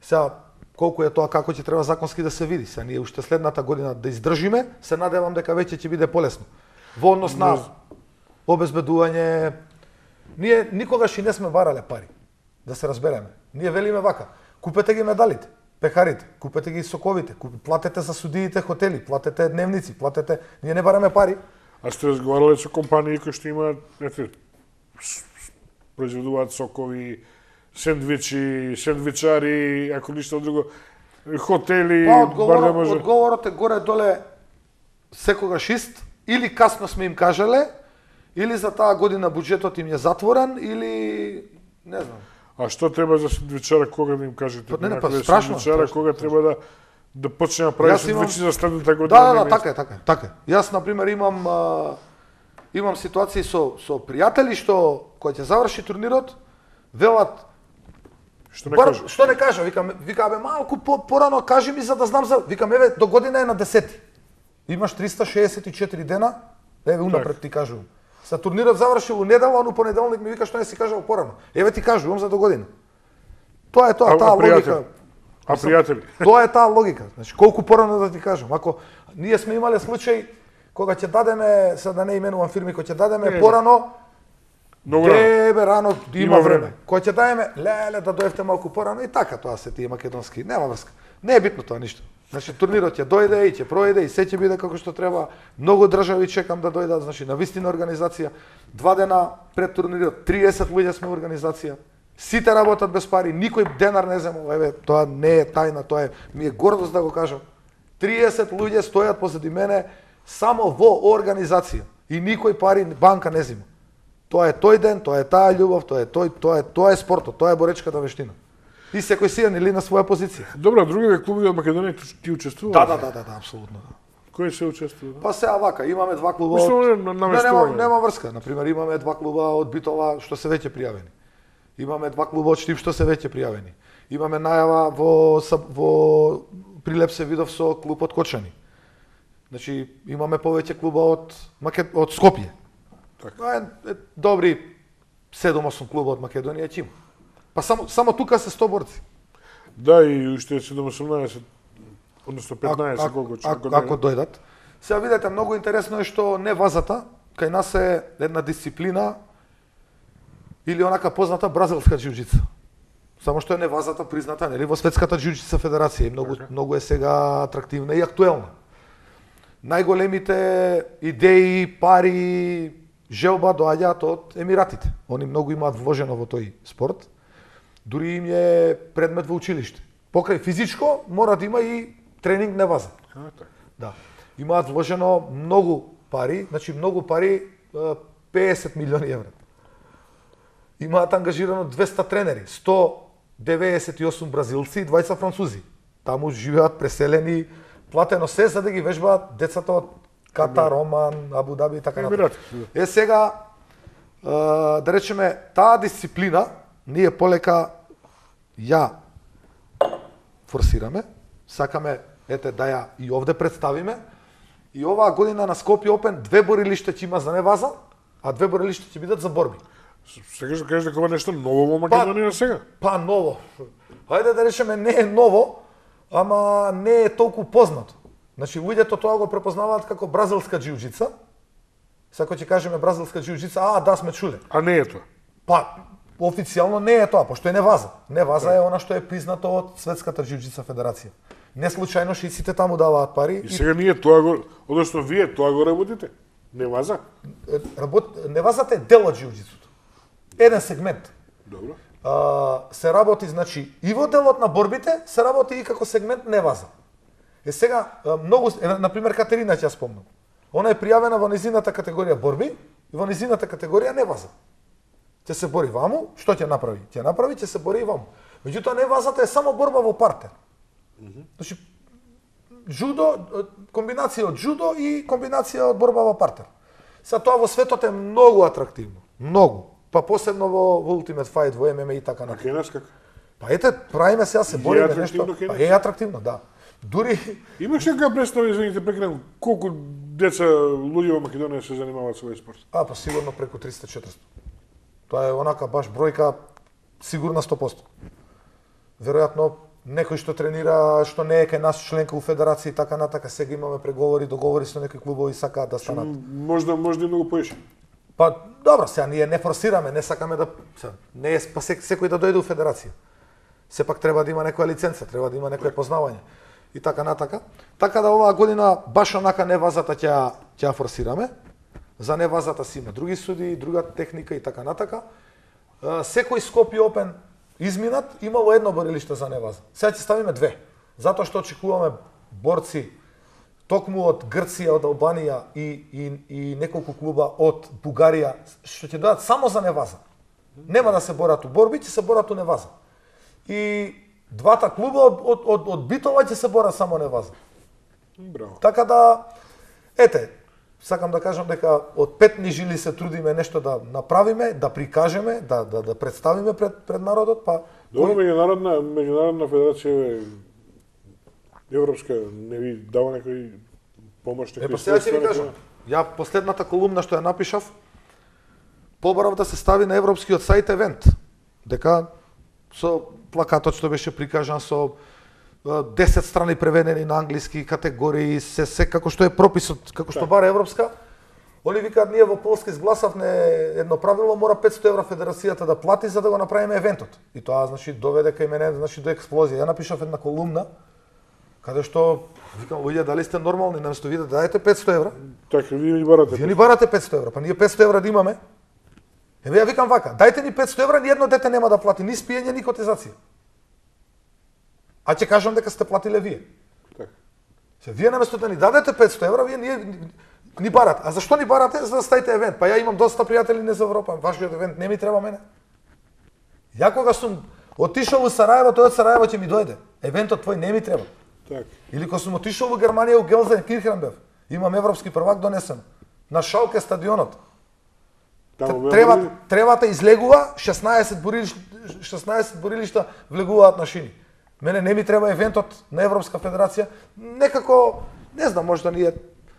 Сега, колку е тоа, како ќе треба законски да се види. Сега ние уште следната година да издржиме, се надевам дека веќе ќе биде полесно. Во однос на обезбедување, ние никогаш и не сме барале пари, да се разбереме. Ние велиме вака, купете ги медалите, пекарите, купете ги соковите, платете за судиите хотели, платете дневници, платете, ние не бараме пари. А сте разговарале со компании кои што имаат, произведуваат сокови, сендвичари, ако ништо друго, хотели, одговорот е горе-доле секогаш ист, или касно сме им кажале, или за таа година буџетот им е затворен, или не знам. А што треба за сендвичара, кога да им кажете? Страшно. Кога треба да почне да прави сендвичи за следната година? Да, така е. Јас, например, имам ситуации со пријатели што кои ќе заврши турнирот, велат што не кажа, викаме малку порано кажи ми за да знам викам еве до година е на 10. Имаш 364 дена, еве унапред ти кажувам. Са турнирот завршил у недела, он у понеделник ми вика што не си кажал порано. Еве ти кажувам за до година. Тоа е таа логика. А пријатели? Тоа е таа логика. Значи колку порано да ти кажам. Ако ние сме имале случај кога ќе дадеме, сега да не именувам фирми, кога ќе дадеме порано, рано има време. Кога ќе дадеме, леле да дојдете малку порано и така тоа се тие македонски, нема врска. Не е битно тоа ништо. Значи турнирот ќе дојде и ќе пројде и се ќе биде како што треба. Многу држави чекам да дојдат, значи на вистина организација. 2 дена пред турнирот 30 луѓе сме организација. Сите работат без пари, никој денар не земал. Еве, тоа не е тајна, тоа е ми е гордост да го кажам. 30 луѓе стојат позади мене само во организација и никој пари банка не зема. Тоа е тој ден, тоа е таа љубов, тоа е спортот, тоа е боречката вештина. И секој си или на своја позиција. Добро, другите клубови од Македонија ти учествуваат? Да, апсолутно. Кои се учествува? Па сега вака, имаме 2 клуба. Нема врска. Например, имаме 2 клуба од Битола што се веќе пријавени. Имаме 2 клуба од Штип што се веќе пријавени. Имаме најава во Прилеп се видов со клуб од Кочани. Значи имаме повеќе клуба од Скопје. Така. Добри 7-8 клуба од Македонија ќе има. Па само тука се 100 борци. Да, и уште 7-18, односно 15 колку ако дојдат. Сега видете, многу интересно е што не вазата, кај нас е една дисциплина или онака позната бразилска џиу-џица. Само што е невазата призната, нели, во Светската џиу-џица федерација, многу е сега атрактивна и актуелна. Најголемите идеи, пари, желба доаѓаат од Емиратите. Они многу имаат вложено во тој спорт. Дури им е предмет во училиште. Покрај физичко мора да има и тренинг неваза. Да. Имаат вложено многу пари, значи многу пари, 50 милиони евра. Имаат ангажирано 200 тренери, 198 бразилци и 20 французи. Таму живеат преселени, платено се за да ги вежбаат децата од Катар, Оман, Абу Даби и така натаму. Сега, да речеме, таа дисциплина ние полека ја форсираме, сакаме да ја и овде представиме. И оваа година на Скопје Опен 2 борилишта ќе има за неваза, а 2 борилишта ќе бидат за борби. Сакаш да кажеш дека ова нешто ново во Македонија сега? Па ново. Хајде да речеме не е ново, ама не е толку познато. Значи луѓето тоа го препознаваат како бразилска џиу-џица. Сако ќе кажеме бразилска џиу-џица, да сме чуле. А не е тоа. Па официјално не е тоа, пошто е неваза. Неваза е она што е признато од Светската џиу-џица федерација. Не случајно шиците таму даваат пари. И сега ние тоа го, односно вие тоа го работите? Неваза? Невазата е дел од џиу-џицуто. Еден сегмент. Добро. Се работи, значи, и во делот на борбите, се работи и како сегмент неваза. Сега, многу, например, Катерина ќе спомнам. Она е пријавена во низината категорија борби и во низината категорија неваза. Ќе се бори ваму, што ќе направи? Ќе направи, ќе се бори и ваму. Меѓутоа, невазата е само борба во партер. Значи, джудо, комбинација од джудо и комбинација од борба во партер. Сега тоа во светот е многу атрактивно. Многу. Па посебно во Ultimate Fight, во ММА и така натаму. А кај нас како? Па ете, правиме сега се бориме нешто. Па е атрактивно, да. Дури имаш некоја представа, извините, прекинам, колку деца луѓе во Македонија се занимаваат со овој спорт? Па сигурно преку 300-400. Тоа е онака баш бројка сигурна 100%. Веројатно некој што тренира, што не е кај нас членка у федерација и така натака, сега имаме преговори, договори со некои клубови сакаат да станат. Можда и многу поише. Па добро, сега ние не форсираме, не сакаме да не е па секој да дојде у федерација. Сепак треба да има некоја лиценца, треба да има некое познавање и така натака. Така да оваа година баш онака невазата ќе форсираме. За невазата си има други суди, друга техника и така натака. Секој Скопје Опен изминат имало едно борилиште за неваза. Сега ќе ставиме 2, затоа што очекуваме борци токму од Грција, од Албанија и неколку клуба од Бугарија што ќе дојдат само за неваза. Нема да се борат у борби, ќе се борат у неваза. И двата клуба од Битола ќе се борат само неваза. Браво. Така да, ете, сакам да кажам дека од 5 жили се трудиме нешто да направиме, да прикажеме, да представиме пред народот, па добро, меѓународна федерација европска не ви дава некој помош, некој. Па сега ќе ви кажам. Ја последната колумна што ја напишав, побарав да се стави на европскиот сајт евент, дека со плакатот што беше прикажан со 10 страни преведени на англиски категории, се како што е прописот, како што бара европска. Они викаат, ние во Полска изгласавме едно правило, мора 500 евра федерацијата да плати за да го направиме евентот. И тоа значи доведе кај мене до експлозија. Ја напишав една колумна каде што викам, луѓе, дали сте нормални, наместо вие да дадете 500 евра? Така, вие ни барате. Вие ни барате 500 евра, па ние 500 евра да имаме. Еве ја викам вака, дајте ни 500 евра, ни едно дете нема да плати ни спиење, ни котизација. А ќе кажам дека сте платиле вие. Така. Се вие наместо да ни дадете 500 евра, вие ни барате. А зашто ни барате? За да ставите евент. Па ја имам доста пријатели не за Европа, вашиот евент не ми треба мене. Ја кога сум отишол во Сараево, тој од Сараево ќе ми дојде. Евентот твој не ми треба. Так. Или кога сум отишол во Германија, у Gelsenkirchen бев. Имам европски првак донесен. На Шалке стадионот. Тревата излегува, 16 борилишта влегуваат на шини. Мене не ми треба евентот на Европска федерација. Некако, не знам, можда ние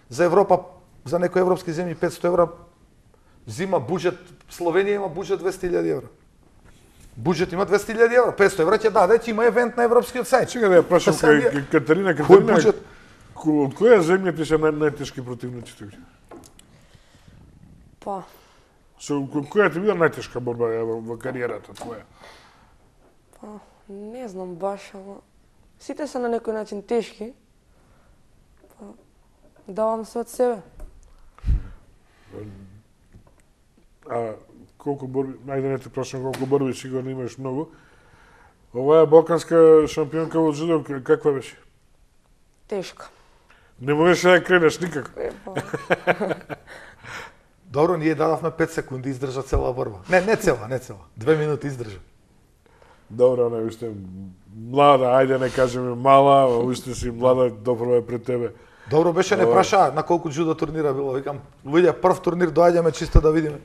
за Европа, за некои европски земји 500 евра зима буџет, Словенија има буџет 200.000 евра. Буџет има 200.000 евра, 500 евра ќе даде, ќе има евент на европскиот сајт. Сега да ја прашам кај Катерина, од која земја ти се најтешки противници? Па, Која ти била најтешка борба во кариерата твоја? Не знам баш, ама сите се на некој начин тешки. Давам се од себе. Колку борби, ајде не те прашам колку борби, сигурно имаш многу. Оваа балканска шампионка во джудо каква беше? Тешка. Не можеш да кренеш никако. Добро, ние дадавме 5 секунди, издржа цела борба. Не цела. 2 минути издржа. Добро, не уште млада, ајде не кажеме мала, уште си млада, добро е пред тебе. Добро беше, не праша на колку джудо турнира било. Викам, луѓе, прв турнир доаѓаме чисто да видиме.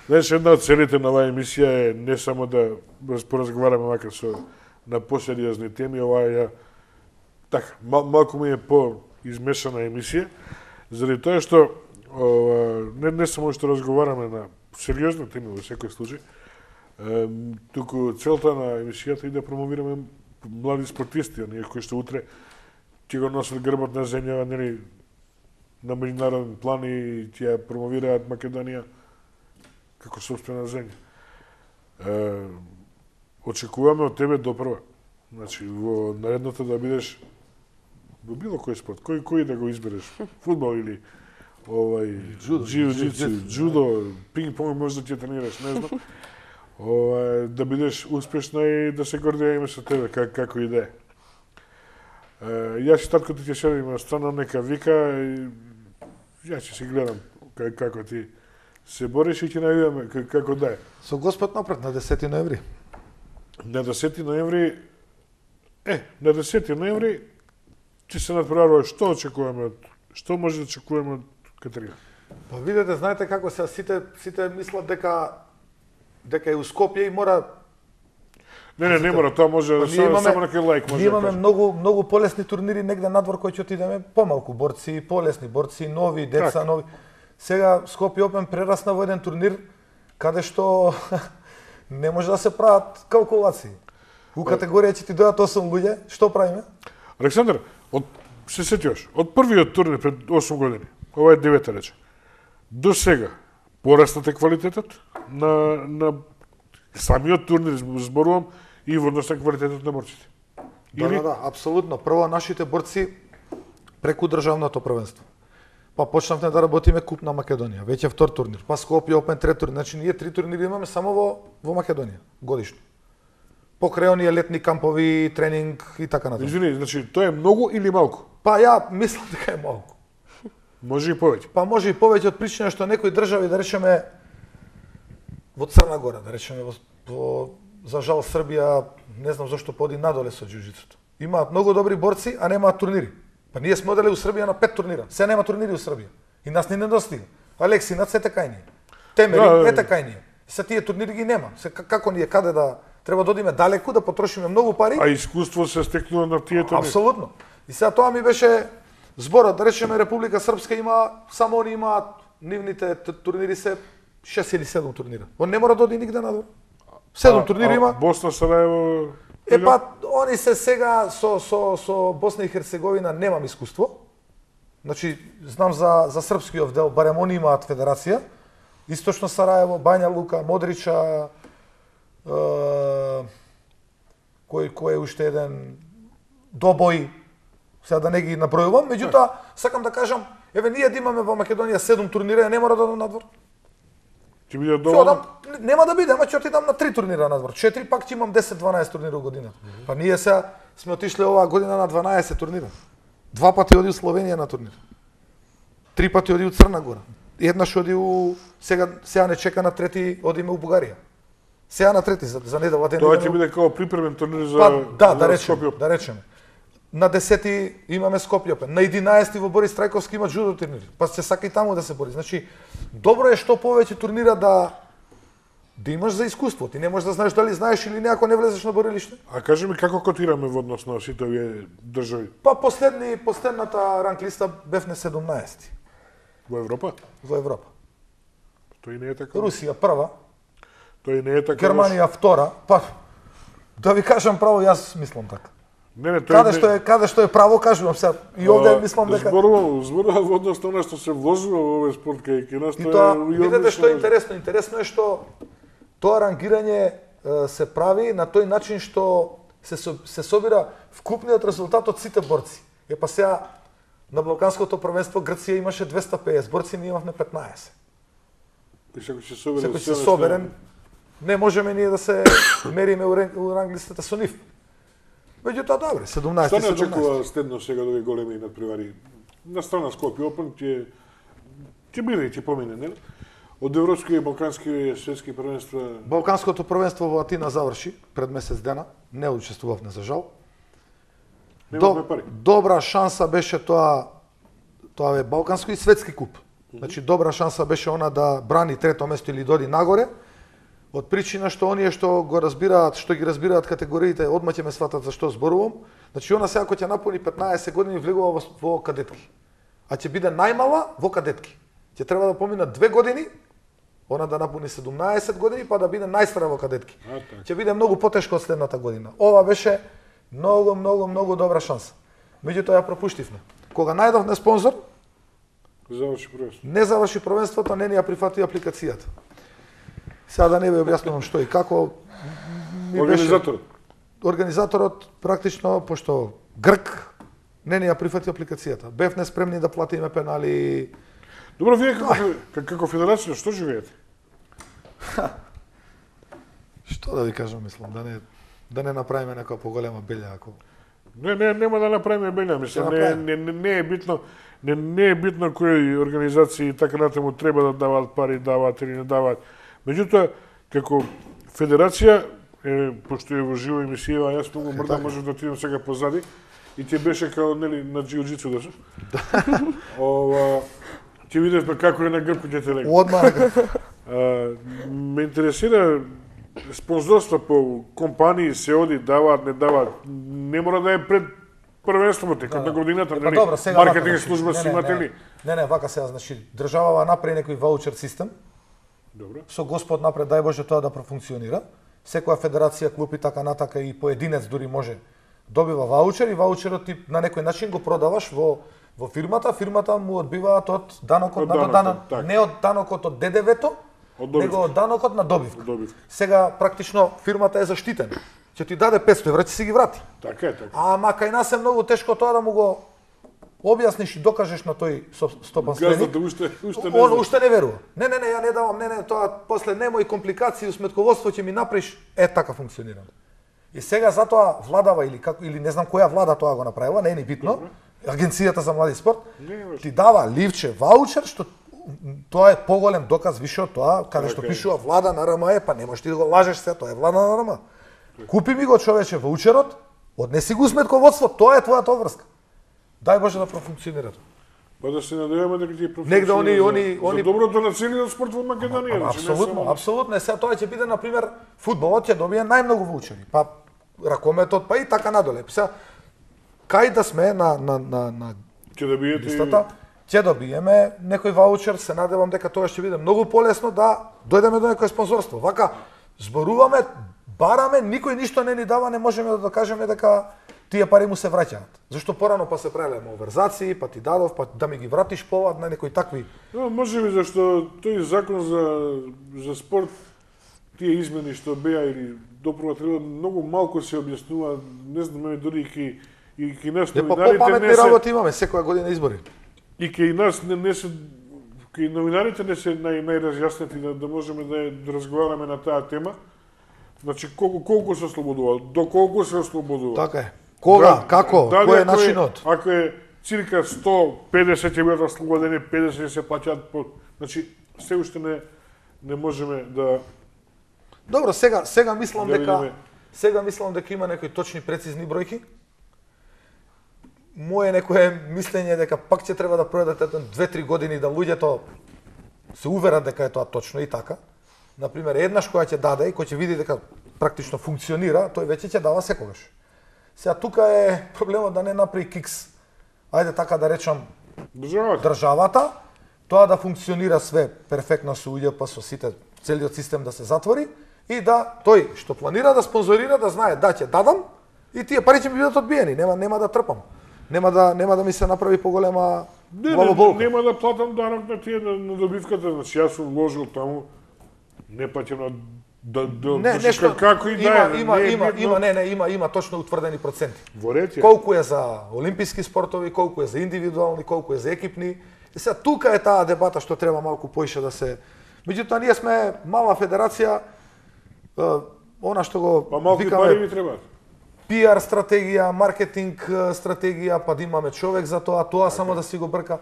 Знаеш, една од целите на оваа емисија е не само да поразговараме макар со на посериозни теми, оваа така, малку ми е по-измешана емисија, заради тоа што не само што разговараме на сериозни теми во секој случај, туку целта на емисијата е да промовираме млади спортисти, оние кои што утре ќе го носат грбот на земја, нели, на меѓународен план и ќе промовираат Македонија како сопствена земја. Очекуваме од тебе допрва. Значи, во наредното да бидеш во било кој спорт, кој да го избереш, фудбал или џиу-џитсу, джудо, пинг-понг може да ќе тренираш, не знам. Да бидеш успешна и да се гордееме со тебе, како и да е. Јас и таткото ќе седим на страна, нека вика, јас ќе си гледам како ти се бориш и ќе најдеме како да е. Со Господ напред на 10 ноември. На 10 ноември, на 10 ноември ќе се надпреварува што може да очекуваме од Катерина? Па видете, знаете како се сите мислат дека е у Скопје и мора. Не мора, тоа може само на кај лајк може. Ние имаме многу полесни турнири негде надвор кои ќе отидеме, помалку борци, полесни борци, нови деца, нови. Сега Скопје Опен прерасна во еден турнир каде што не може да се прават калкулации. У категорија ќе ти дојдат 8 луѓе, што правиме? Александар, се сетиш, од првиот турнир пред 8 години, ова е 9-та рече, до сега пораснате квалитетот на самиот турнир, зборувам, и во однос на квалитетот на борците. Да, апсолутно. Прво нашите борци преку државното првенство. Па почнавме да работиме Куп на Македонија, веќе втор турнир, па Скопје Опен трет турнир. Значи ние 3 турнири имаме само во Македонија годишно. Покрај оние летни кампови, тренинг и така натаму. Извини, значи тоа е многу или малку? Па ја мислам дека е малку. Може и повеќе. Па може и повеќе од причина што некои држави, да речеме во Црна Гора, да речеме за жал Србија, не знам зошто поди надоле со џиу-џитсуто. Имаат многу добри борци, а немаат турнири. Па ние сме одели у Србија на 5 турнира. Се нема турнири у Србија. И нас не недостига. Алексинат се така и ние. Темери е така и ние. Се тие турнири ги нема. Се како ние каде да треба да одиме далеку, да потрошиме многу пари. А искуство се стекнува на тие турнири. Апсолутно. И сега тоа ми беше зборот, да речеме Република Српска има само они имаат нивните турнири се 6 или 7 турнира. Он не мора да оди нигде надвор. 7 турнири има. Босна, Сараево. Па они се сега со Босна и Херцеговина немам искуство. Значи знам за српскиот дел, барем они имаат федерација. Источно Сараево, Бања Лука, Модрича, кој е уште еден Добој, сега да не ги набројувам, меѓутоа сакам да кажам, еве ние да имаме во Македонија 7 турнира, не мора да одам надвор. Ќе биде доволно? Нема да биде, ама ќе отидам на 3 турнира надвор. 4 пак ќе имам 10-12 турнира годината. Па ние сега сме отишле оваа година на 12 турнира. 2 пати оди у Словенија на турнир. 3 пати оди у Црна Гора. Еднаш оди у сега не чека на трети, одиме у Бугарија. Сега на трети за недела ден. Тоа ќе биде како припремен турнир за Скопје. Да речеме. На 10 имаме Скопје Опен. На 11 во Борис Трајковски има джудо турнири. Па се сака и таму да се бори. Значи, добро е што повеќе турнира да имаш за искуство. Ти не можеш да знаеш дали знаеш или не ако не влезеш на борилиште. А кажи ми како котираме во однос на сите овие држави? Па последната ранглиста бевне 17. Во Европа? Во Европа. Тој не е така. Русија прва. Тој не е така. Германија втора. Па да ви кажам право, јас мислам така. Каде што е право, кажувам се. И овде мислам дека зборува во однос на што се вложува во овој спорт кај нас тоа. Видете што е интересно, интересно е што тоа рангирање се прави на тој начин што се собира вкупниот резултат од сите борци. Па сега на Балканското првенство Грција имаше 250 борци, ние имавме 15. Секој се соберен, не можеме ние да се мериме у ранглистата со нив. Меѓутоа, добре, 17-17. Што не очекува следно сега овие големи надпревари? На страна Скопје Опен ќе биде и ќе помине, не? Од европски и балкански светски првенства. Балканското првенство во Атина заврши пред месец дена, не учествувавме за жал. Добра шанса беше тоа е балканско и светски куп. Значи добра шанса беше она да брани трето место или доди нагоре. Од причина што оние што го разбираат, што ги разбираат категориите, одма ќе ме сватат за што зборувам. Значи она сега кој ќе напуни 15 години влегува во кадетки. А ќе биде најмала во кадетки. Ќе треба да поминат 2 години, она да напуни 17 години, па да биде најстара во кадетки. Ќе биде многу потешко од следната година. Ова беше многу добра шанса. Меѓутоа ја пропуштивме. Кога најдовме спонзор, не заврши првенството, не ни ја прифати апликацијата. Сега да не ви објаснувам што и како. Организаторот практично, пошто Грк, не ни ја прифати апликацијата. Бевме спремни да платиме пенали. Добро, вие како федерација што живеете? Што да ви кажам, мислам, да не направиме некоја поголема белја ако. Нема да направиме белја, мислам, не е битно кои организации и така натаму треба да даваат пари, даваат или не даваат. Меѓутоа, како федерација, пошто е во живо емисија, јас многу мрда можев да отидам сега позади и ти беше као на џиу-џицу да се. Ќе видиш како е на грб ќе те лега. Одма. Ме интересира спонзорства по компании се оди, даваат, не даваат. Не мора да е пред првенството, дека на годината, нели? Маркетинг служба си имате ли? Не, вака сега, значи, државава направи некој ваучер систем. Добро. Со Господ напред, дај Боже тоа да профункционира. Секоја федерација, клуб и така натака и поединец дури може добива ваучер и ваучерот ти на некој начин го продаваш во фирмата му одбиваат од данокот на додана, не од данокот од ДДВ-то, него од данокот на добивка. Сега практично фирмата е заштитена. Ќе ти даде 500 евра, ќе си ги врати. Така е. Ама кај нас е многу тешко тоа да му го објасниш и докажеш на тој стопанственик. Газдата уште не верува. Не, ја не давам, тоа после немој компликации, сметководство ќе ми направиш, така функционирам. И сега затоа владава или не знам која влада тоа го направила, не е ни битно, Агенцијата за млади спорт, ти дава ливче, ваучер, што тоа е поголем доказ више од тоа, каде што пишува влада на РМЕ, па не можеш ти да го лажеш се, тоа е влада на РМЕ. Купи ми го човече ваучерот, однеси го сметководство, тоа е твојата обврска. Дај Боже да профункционира. Па да се надеваме дека ќе профункционира за доброто на целиот спорт во Македонија. Апсолутно. Сега тоа ќе биде, например, фудбалот ќе добие најмногу ваучери, па ракометот, па и така надоле. Сега, кај да сме на листата, ќе добиеме некој ваучер, се надевам дека тоа ќе биде многу полесно да дојдеме до некој спонзорство. Вака, зборуваме, бараме, никој ништо не ни дава, не можеме да докажеме дека тие пари му се враќаат. Зашто порано па се правеле малверзации, па ти дадов, па да ми ги вратиш повад на некои такви. Може би зашто тој закон за спорт, тие измени што беа или допрва многу малку се објаснува, не знаме дури и кај нас новинарите попаметни работи имаме секоја година избори. И кај нас не се кај новинарите не се најразјаснети да можеме да разговараме на таа тема. Значи колку се ослободува, доколку се ослободува. Така е. Кога, како, кој е начинот? Ако е цирка 150 ќе бидат ослободени, 50 се плаќаат по, значи се уште не можеме да. Добро, сега мислам дека има некои точни прецизни бројки. Мое некое мислење дека пак ќе треба да пројдат 2-3 години да луѓето се уверат дека е тоа точно и така. Например, еднаш која ќе даде и кој ќе види дека практично функционира, тој веќе ќе дава секогаш. Сега тука е проблемот да не направи кикс. Ајде така да речам државата, тоа да функционира све перфектно со УЈП, со сите, целиот систем да се затвори и да тој што планира да спонзорира да знае да ќе дадам И тие пари ќе ми бидат одбиени, нема да трпам. Нема да ми се направи поголема главоболка. Нема да платам данок на тие на добивката, значи јас сум вложил таму, не платам на како и да е. Има точно утврдени проценти. Во ред е. Колку е за олимписки спортови, колку е за индивидуални, колку е за екипни. И сега тука е таа дебата што треба малку поише да се. Меѓутоа ние сме мала федерација, она што го викаме пари ви требаат. PR стратегија, маркетинг стратегија, па да имаме човек за тоа само да си го брка.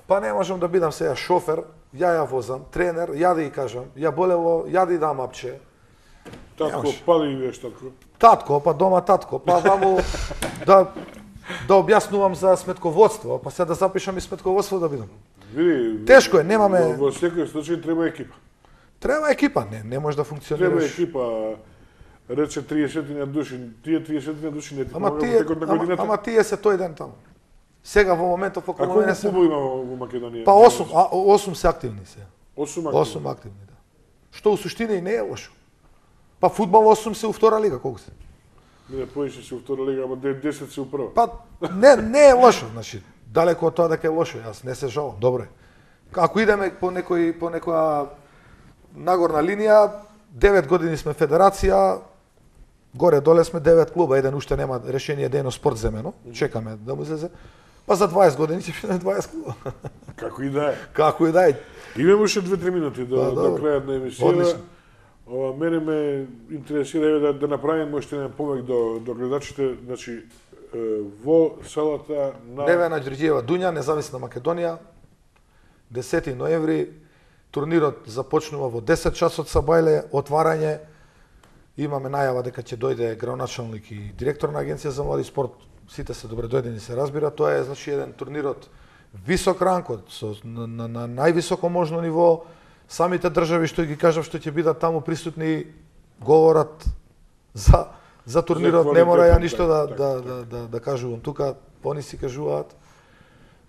Па не можам да бидам сега шофер, ја возам, тренер, ја да ја кажам, ја болело, ја да ја дам апче. Татко, па да идеш татко. Татко, па дома татко, па ваму да објаснувам за сметководство, па се да запишам и сметководство да бидам. Види, тешко е, немаме. Во секој случај треба екипа. Треба екипа, не може да функционираш. Треба екипа. Рече 30 души, тие 30 души не ти помагат во текот на годината. Ама тие се тој ден таму. Сега во моментов околу мене се. А колку клубови има во Македонија? Па 8 се активни се. 8 активни, да. Што у суштина и не е лошо. Па фудбал 8 се у втора лига, колку се? Не, поише се у втора лига, ама 10 се у прва. Па не е лошо, значи далеко од тоа дека е лошо, јас не се жалам, добро е. Ако идеме по некоја нагорна линија, 9 години сме федерација, горе-доле сме 9 клуба, еден уште нема решение да е спорт земено, чекаме да му излезе. Па за 20 години ќе биде 20 клуба. Како и да е. Како и да е. Имаме уште 2-3 минути до крајот на емисијата. Мене ме интересира да направиме уште еден помек до гледачите, значи во салата на Невена Ѓорѓиева Дуња, Независна Македонија, 10 ноември, турнирот започнува во 10 часот са бајле, отварање. Имаме најава дека ќе дојде градоначалник и директор на Агенција за млади спорт. Сите се добре дојдени, се разбира. Тоа е значи еден турнир од висок ранг, на највисоко можно ниво. Самите држави што ги кажав што ќе бидат таму присутни говорат за турнирот, не мора ја ништо да кажувам тука, они си кажуваат.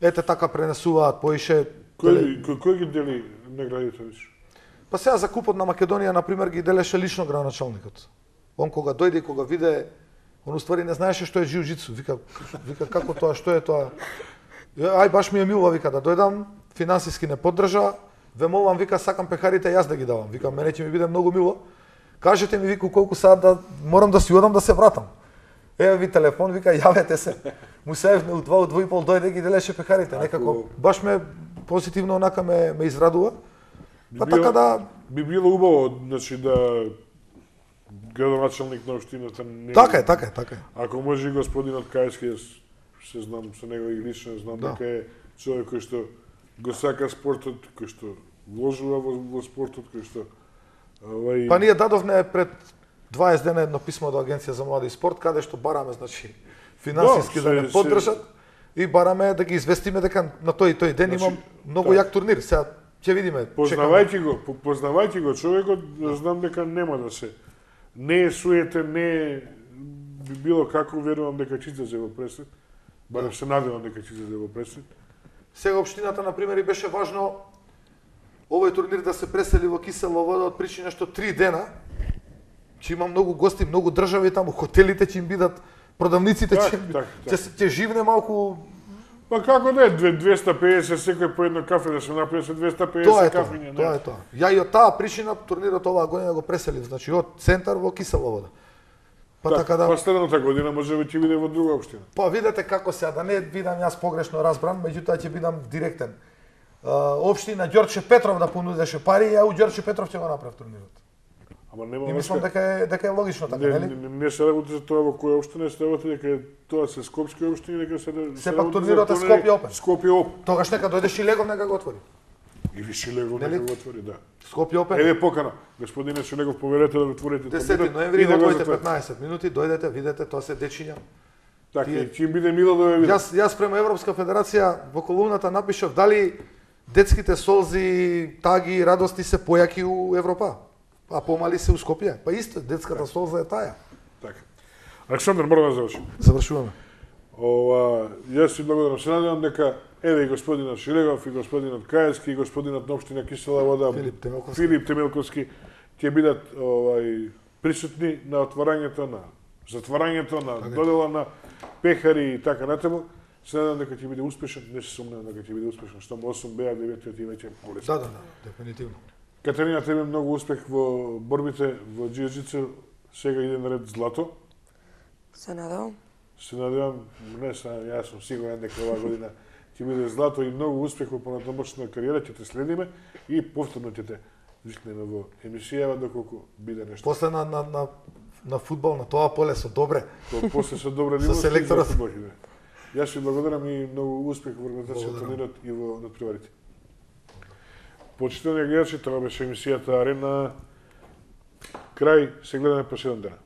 Ете така пренесуваат поише. Кој ги дели наградите више? Па сега за купот на Македонија, например, ги делеше лично градоначалникот. Он кога дојде и кога виде, он уствари не знаеше што е џиу-џитсу. Вика како тоа, што е тоа? Ај баш ми е мило, вика, да дојдам, финансиски не поддржа, ве молам, вика, сакам пехарите јас да ги давам. Вика, мене ќе ми биде многу мило. Кажете ми, вика, колку саат да морам да си одам да се вратам. Еве ви телефон, вика, јавете се. Му се у 2:30 дојде ги делеше пехарите. Некако баш ме позитивно онака ме израдува. Па така да би било убаво, значи да градоначалник на општината не. Така е. Ако може и господинот Кајски, се знам со него и лично, знам дека е човек кој што го сака спортот, кој што вложува во спортот, кој што Па ние дадовме пред 20 дена едно писмо до Агенција за млади спорт, каде што бараме, значи, финансиски да не поддржат и бараме да ги известиме дека на тој ден имам многу јак турнир. Сега ќе видиме. Познавајќи го човекот, знам дека нема да се. Не е суетен, не е било како, верувам дека ќе излезе во пресвет. Барем се надевам дека ќе излезе во пресвет. Сега општината, например, и беше важно овој турнир да се пресели во Кисела Вода од причина што 3 дена ќе има многу гости, многу држави таму, хотелите ќе им бидат, продавниците ќе живне малку. Па како да е 250 секој по едно кафе да се направи со 250 кафиња. Тоа е тоа. Ја и од таа причина турнирот оваа година го преселив, значи од центар во Кисела Вода. Па така да. Па следната година може би ќе биде во друга општина. Па видете како сега, да не бидам јас погрешно разбран, меѓутоа ќе бидам директен. Општина Ѓорче Петров да понудеше пари, ја у Ѓорче Петров ќе го направи турнирот. Ама нема. И мислам дека е логично така, нели? Не се работи за тоа во која општина, се работи дека тоа се скопски општини, дека се сепак турнирот е Скопје Опен. Скопје Опен. Тогаш нека дојде Шилегов нека го отвори. Или Шилегов нека го отвори, да. Скопје Опен. Еве покана. Господине Шилегов, поверете да го отворите. 10 ноември во 15 минути, дојдете, видете, тоа се дечиња. Така, ќе им биде мило да ве видам. Јас према Европска федерација во колумната напишав дали детските солзи, таги, радости се појаки у Европа, а помали се у Скопје. Па исто, детската солза е таа. Така. Александар, мора да завршим. Завршуваме. Јас си благодарам. Се надевам дека еве и господинот Шилегов, и господинот Кајски, и господинот на општина Кисела Вода, Филип Темелковски ќе бидат присутни на отварањето на затварањето, на додела на пехари и така натаму. Се надам дека ќе биде успешен, не се сумневам дека ќе биде успешен, што 8 беа, 9-тиот и веќе полесно. Да, дефинитивно. Катерина, тебе многу успех во борбите во џиу-џитсу, сега иде на ред злато. Се надевам. Се надевам, јас сум сигурен дека оваа година ќе биде злато и многу успех во понатамошна кариера, ќе те следиме и повторно ќе те викнеме во емисија доколку биде нешто. После на фудбал на тоа поле со добре. После со добре со селекторот. Јас ви благодарам и многу успех во организацијата турнирот и во надпреварите. Почитувани гледачи, тоа беше емисијата Арена. Крај, се гледаме по 7 дена.